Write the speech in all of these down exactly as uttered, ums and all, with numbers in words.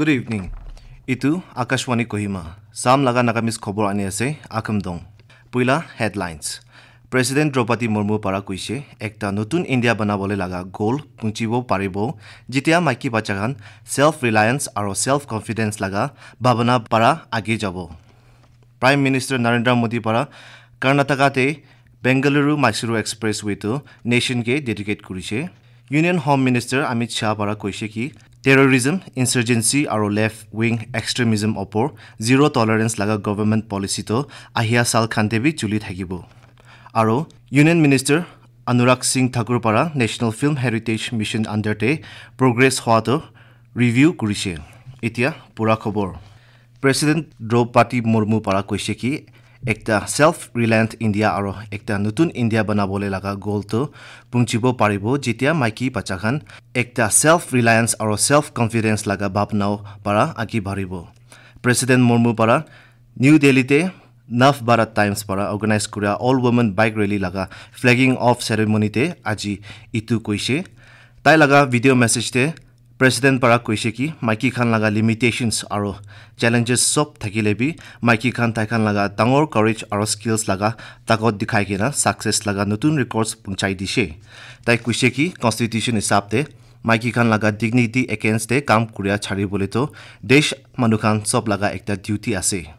Good evening. Itu Akashvani Kohima. Sam laga Nagamese khobor ani ase, Akham Dong. Puila headlines. President Draupadi Murmu para koise, ekta notun India banabole laga goal punchibo paribo, jitia maiki bacha khan self reliance aro self confidence laga bhabana para age jabo. Prime Minister Narendra Modi para Karnataka te Bengaluru Mysuru Expressway to nation ke dedicate kurise. Union Home Minister Amit Shah para koise ki terrorism, insurgency aro left wing extremism opor zero tolerance laga government policy to ahia sal khan te bi chuli thakibo. Aro Union Minister Anurag Singh Thakur para National Film Heritage Mission under te progress hwa to review kurise. Itia pura khobor. President Draupadi Murmu para koise ki ekta self reliant India aro ekta notun India banabole laga goal to punchibo paribo, jitia maiki bacha khan ekta self reliance aro self confidence laga bhabna para agi baribo. President Murmu para New Delhi te Nav Bharat Times para organize kuria all women bike rally laga flagging off ceremony te aji itu koise. Tai laga video message te President para koise ki maiki khan laga limitations aro challenges sob thakile bi maiki khan tai khan laga dangor courage aro skills laga takot dikhai kena success laga notun records punchai dishe. Tai koise ki constitution hisab te maiki khan laga dignity against te kam kuria chari bole to desh manu khan sob laga ekta duty ase.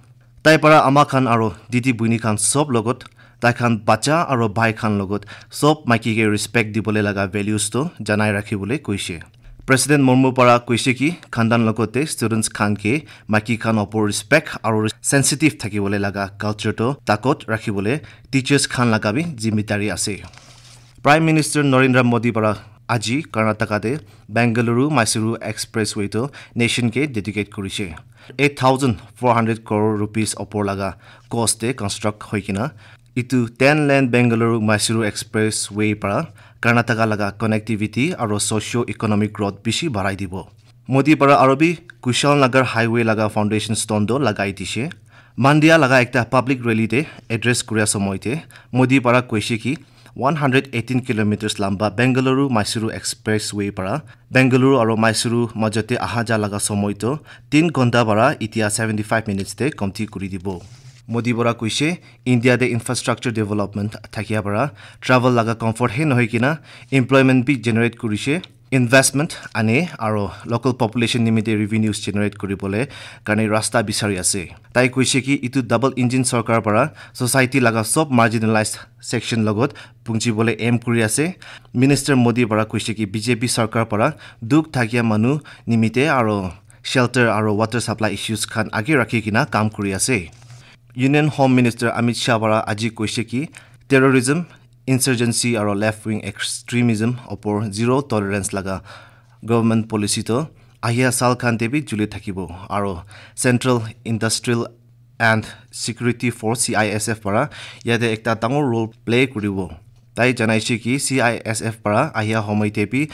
Tai para ama khan aro didi buini khan sob logot, tai khan bacha aro bhai khan logot sob maiki ke respect dibole laga values to janai rakhibole koise. President Murmu para koise ki khandan logote students khan ke maiki khan opor respect aro sensitive thakibole laga culture to takot rakhibole teachers khan laga bi zimmedari ase. Prime Minister Narendra Modi para aji Karnataka te Bengaluru Mysuru Expressway to nation ke dedicate kurise. Eight thousand four hundred crore rupees opor laga cost te construct hoi kena itu ten lane Bengaluru Mysuru Expressway para Karnataka laga connectivity aro socio economic growth bishi barai dibo. Modi para aro bi Kushal Nagar Highway laga foundation stone do lagai dishe. Mandia laga ekta public rally te address kuria somoy te Modi para koise ki one hundred eighteen kilometers lamba Bengaluru Mysuru Expressway para Bengaluru aro Mysuru majate aha ja laga somoy to tin ghonta para itia seventy five minutes te komti kuri dibo. Modi para koise India te infrastructure development thakia para travel laga comfort he nohoi kena employment bi generate kurise. Investment ane aro local population nimite revenues generate kuribole karne rasta bisari ase. Tai koise ki itu double engine sarkar para society laga sob marginalized section logot punchibole aim kuri ase. Minister Modi para koise ki B J P sarkar para dukh thakia manu nimite aro shelter aro water supply issues khan age rakhi kena kam kuri ase. Union Home Minister Amit Shah para aji koise ki terrorism, insurgency aro left wing extremism opor zero tolerance laga government policy to ahia sal khan te bi juli thakibo aro Central Industrial and Security Force C I S F para yate ekta dangor role play kuribo. Tai janaise ki C I S F para ahia homoi te bi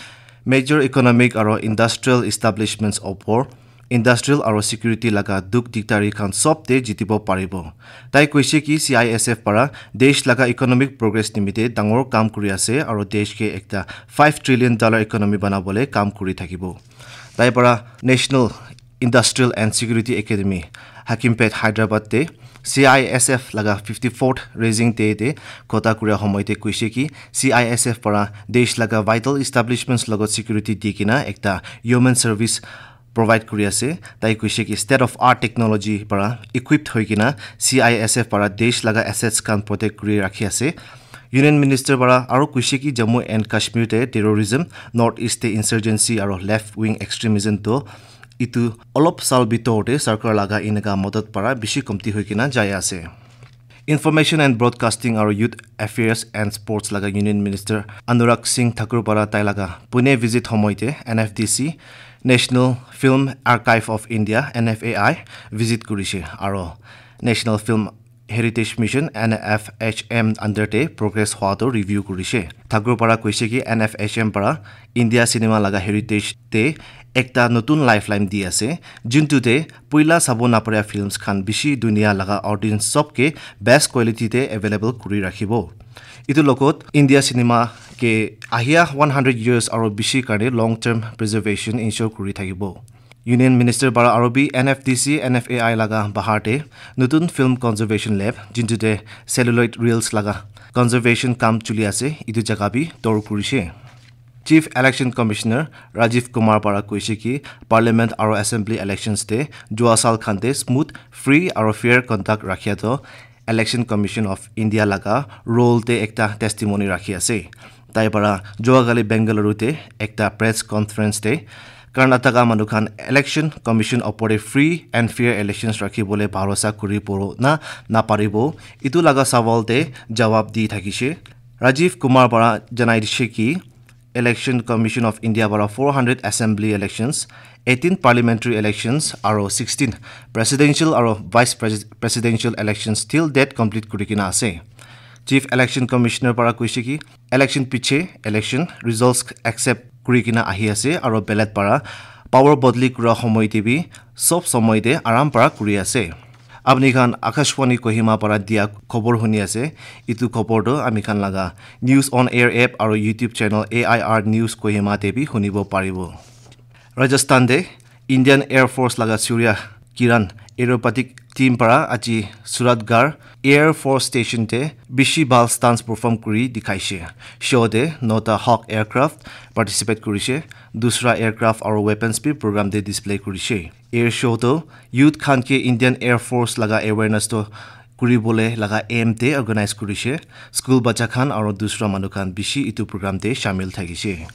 major economic aro industrial establishments opor industrial aro security laga dukh dikdari khan sob te jitibo paribo. Tai koise ki C I S F para desh laga economic progress nimite dangor kam kuri ase aro desh ke ekta five trillion dollar economy banabole kam kuri thakibo. Tai para National Industrial and Security Academy, Hakimpet, Hyderabad te C I S F laga fifty-fourth raising day te kota kuria homoi te koise ki C I S F para desh laga vital establishments logot security di kena ekta human service provide kuri ase. Tai koise ki state of art technology para equipped hoi kena C I S F para desh laga assets khan protect kuri rakhi ase. Union Minister para aro koise ki Jammu and Kashmir te terrorism, North East te insurgency aro left wing extremism to itu olop sal bitor te sarkar laga eneka madad para bishi komti hoi kena jai ase. Information and Broadcasting aro Youth Affairs and Sports laga Union Minister Anurag Singh Thakur para tai laga Pune visit homoi te N F D C, National Film Archive of India, N F A I, visit kurise aro National Film Heritage Mission, N F H M, under te progress hwa to review kurise. Thakur para koise ki N F H M para India cinema laga heritage te ekta notun lifeline di ase, juntu te puila sabo naparia films khan bishi dunia laga audience sob ke best quality te available kuri rakhibo. Itu logot India cinema ke ahia one hundred years aro bishi karne long term preservation ensure kuri thakibo. Union Minister para aro bi N F D C, N F A I laga bahar te nutun film conservation lab, jintu te celluloid reels laga conservation kam chuli ase, itu jaga bi tor kurishe. Chief Election Commissioner Rajiv Kumar para koishe ki Parliament aro Assembly elections te jua sal khan te smooth, free aro fair conduct rakhia to Election Commission of India laga role te ekta testimony rakhi ase. Tai para jua kali Bengaluru te ekta press conference te Karnataka manu khan Election Commission opor te free and fair elections rakhi bole bharosa kuri poro na na paribo, itu laga sawal te jawab di thakishe. Rajiv Kumar para janai dishe ki Election Commission of India para four hundred assembly elections, eighteen parliamentary elections aro sixteen presidential aro vice pres- presidential elections till date complete kuri kena ase. Chief Election Commissioner para koishe ki election piche election results accept kuri kena ahi ase aro ballot para power bodli kura homoi te bi sob somoi te aram para kuri ase. Apni khan Akashvani Kohima para dia khobor huni ase. Itu khobor to ami khan laga News on Air app aro YouTube channel A I R News Kohima te bi hunibo paribo. Rajasthan te Indian Air Force laga Surya Kiran aerobatic team para aji Suratgarh Air Force Station te bishi bhal stunts perform kuri dikhaishe. Show te nota Hawk aircraft participate kurishe. Dusra aircraft aro weapons bi program te display kurishe. Air show to youth khan ke Indian Air Force laga awareness to kuri bole laga aim te organize kurishe. School bacha khan aro dusra manu khan bishi itu program te shamil thakishe.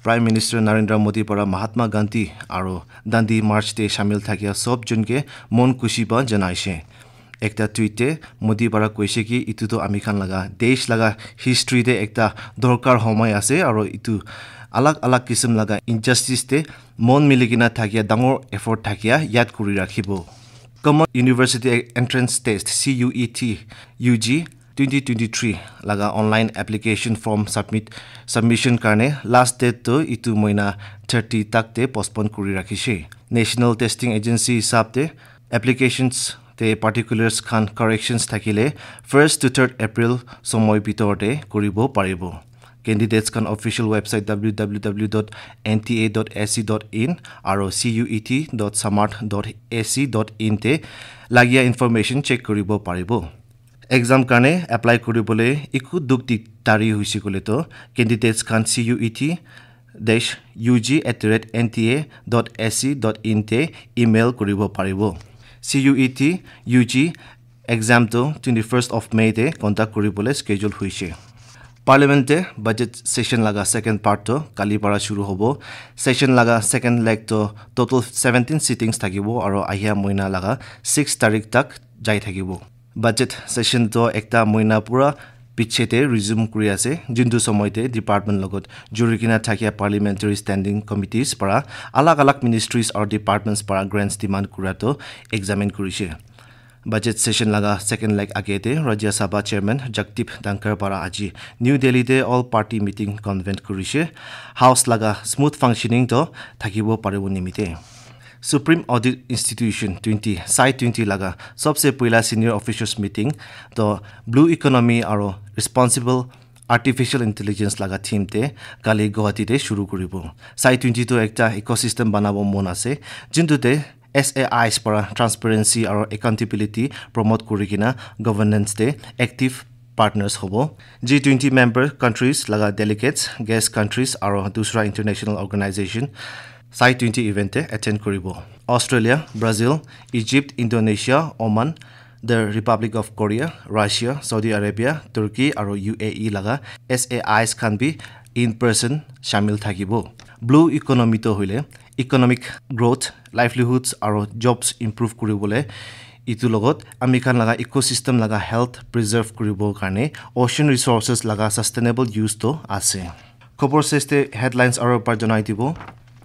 Prime Minister Narendra Modi para Mahatma Gandhi aro Dandi March te shamil thakia sob jun ke mon kushi pa janaishe. Ekta tweet te Modi para koishe ki itu to ami khan laga desh laga history te ekta dorkar homoi ase aro itu alag alag kisim laga injustice te mon mili kena thakia dangor effort thakia yad kuri rakhibo. Common University Entrance Test, C U E T, U G twenty twenty-three laga online application form submit submission karne last date to itu moina thirty tak te postpone kuri rakhishe. National Testing Agency hisab te applications te particulars khan corrections thakile first to third April somoi bitor te kuribo paribo. Candidates khan official website W W W dot N T A dot S C dot in aro C U E T dot samarth dot S C dot in te lagia information check kuribo paribo. Exam karne apply kuribole iku duk dik tari huisi kole to candidates khan C U E T dash U G at the rate N T A dot S C dot in te email kuribo paribo. C U E T U G exam to twenty-first of May te conduct kuribole schedule huishe. Parliament te budget session laga second part to kali para shuru hobo. Session laga second leg to total seventeen sittings thakibo aro ahia moina laga six tarik tak jai thakibo. Budget session to ekta moina pura piche te resume kuri ase, jintu somoi te department logot juri kena thakia parliamentary standing committees para alag alag ministries or departments para grants demand kura to examine kurishe. Budget session laga second leg age te Rajya Sabha Chairman Jagdeep Dhankhar para aji New Delhi te all party meeting convene kurishe. House laga smooth functioning to thakibo paribo nimite Supreme Audit Institution twenty, Sai twenty laga sobse puila senior officials meeting to blue economy aro responsible artificial intelligence laga theme te kali Guwahati te shuru kuribo. Sai twenty to ekta ecosystem banabo mon ase, jintu te S A Is para transparency aro accountability promote kuri kena governance te active partners hobo. G twenty member countries laga delegates, guest countries aro dusra international organization Sai twenty event te attend kuribo. Australia, Brazil, Egypt, Indonesia, Oman, the Republic of Korea, Russia, Saudi Arabia, Turkey aro U A E laga S A Is khan bi in person shamil thakibo. Blue economy to hoile economic growth, livelihoods aro jobs improve kuribole itu logot ami khan laga ecosystem laga health preserve kuribo karne ocean resources laga sustainable use to ase. Khobor seste headlines aro par janai dibo.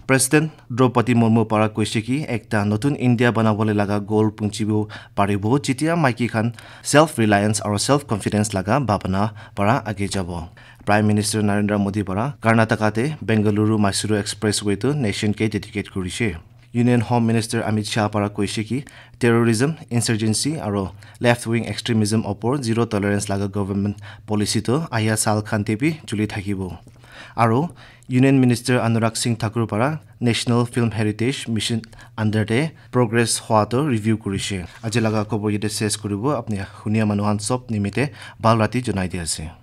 President Draupadi Murmu para koise ki ekta notun India banabole laga goal punchibo paribo, jitia maiki khan self reliance aro self confidence laga bhabana para age jabo. Prime Minister Narendra Modi para Karnataka te Bengaluru Mysuru Expressway to nation ke dedicate kurishe. Union Home Minister Amit Shah para koise ki terrorism, insurgency aro left wing extremism opor zero tolerance laga government policy to ahia sal khan te bi chuli thakibo. Aro Union Minister Anurag Singh Thakur para National Film Heritage Mission under te progress hwa to review kurishe. Aji laga khobor yate ses kuribo, apni hunia manu khan sob nimite bhal rati janai di ase.